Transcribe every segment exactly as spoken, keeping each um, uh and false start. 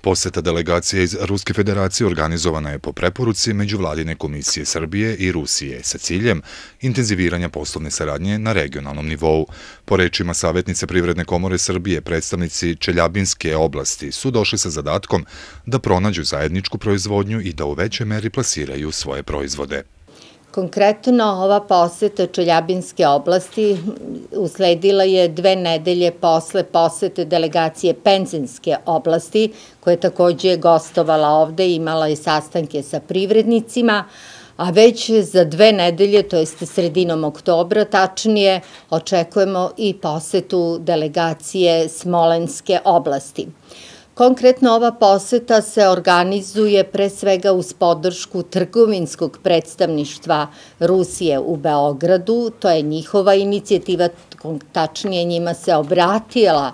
Poseta delegacije iz Ruske federacije organizovana je po preporuci Međuvladine komisije Srbije i Rusije sa ciljem intenziviranja poslovne saradnje na regionalnom nivou. Po rečima savjetnice Privredne komore Srbije, predstavnici Čeljabinske oblasti su došli sa zadatkom da pronađu zajedničku proizvodnju i da u većoj meri plasiraju svoje proizvode. Konkretno, ova poseta Čeljabinske oblasti usledila je dve nedelje posle posete delegacije Penzinske oblasti, koja je takođe gostovala ovde i imala i sastanke sa privrednicima, a već za dve nedelje, to jeste sredinom oktobra, tačnije, očekujemo i posetu delegacije Smolenske oblasti. Konkretno, ova poseta se organizuje pre svega uz podršku trgovinskog predstavništva Rusije u Beogradu. To je njihova inicijativa, tačnije njima se obratila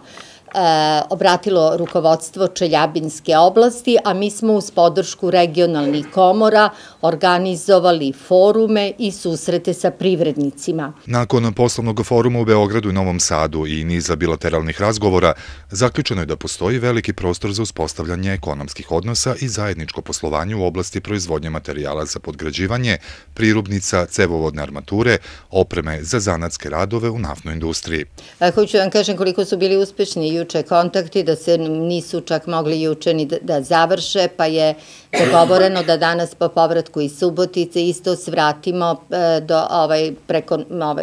obratilo rukovodstvo Čeljabinske oblasti, a mi smo uz podršku regionalnih komora organizovali forume i susrete sa privrednicima. Nakon poslovnog foruma u Beogradu i Novom Sadu i niza bilateralnih razgovora, zaključeno je da postoji veliki prostor za uspostavljanje ekonomskih odnosa i zajedničko poslovanje u oblasti proizvodnje materijala za podgrađivanje, prirubnica, cevovodne armature, opreme za zanatske radove u naftnoj industriji. Hoću vam kažem koliko su bili uspešni juče kontakti, da se nisu čak mogli juče ni da završe, pa je dogovoreno da danas po povratku iz Subotice isto svratimo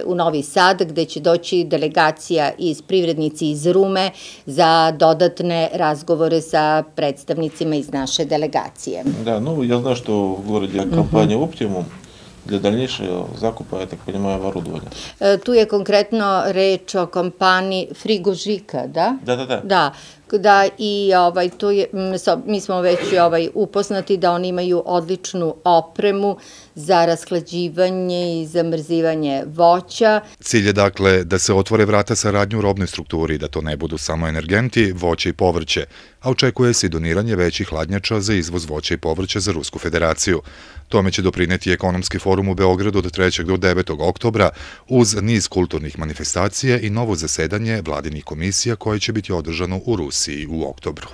u Novi Sad, gde će doći delegacija iz privrednici iz Rume za dodatne razgovore sa predstavnicima iz naše delegacije. Da, ну, я знаю, что в городе компания «Оптимум» для дальнейшего закупа, я так понимаю, оборудования. Tu je konkretno reč o kompaniji Frigožika, da? Da, da, da. Da, da i mi smo već upoznati da oni imaju odličnu opremu za rashlađivanje i zamrzivanje voća. Cilj je dakle da se otvore vrata saradnju u robnoj strukturi, da to ne budu samo energenti, voće i povrće, a očekuje se i doniranje većih hladnjača za izvoz voća i povrća za Rusku federaciju. Tome će doprineti ekonomski forum u Beogradu od trećeg do devetog oktobra uz niz kulturnih manifestacija i novo zasedanje vladinih komisija koje će biti održano u Rusiji u oktobru.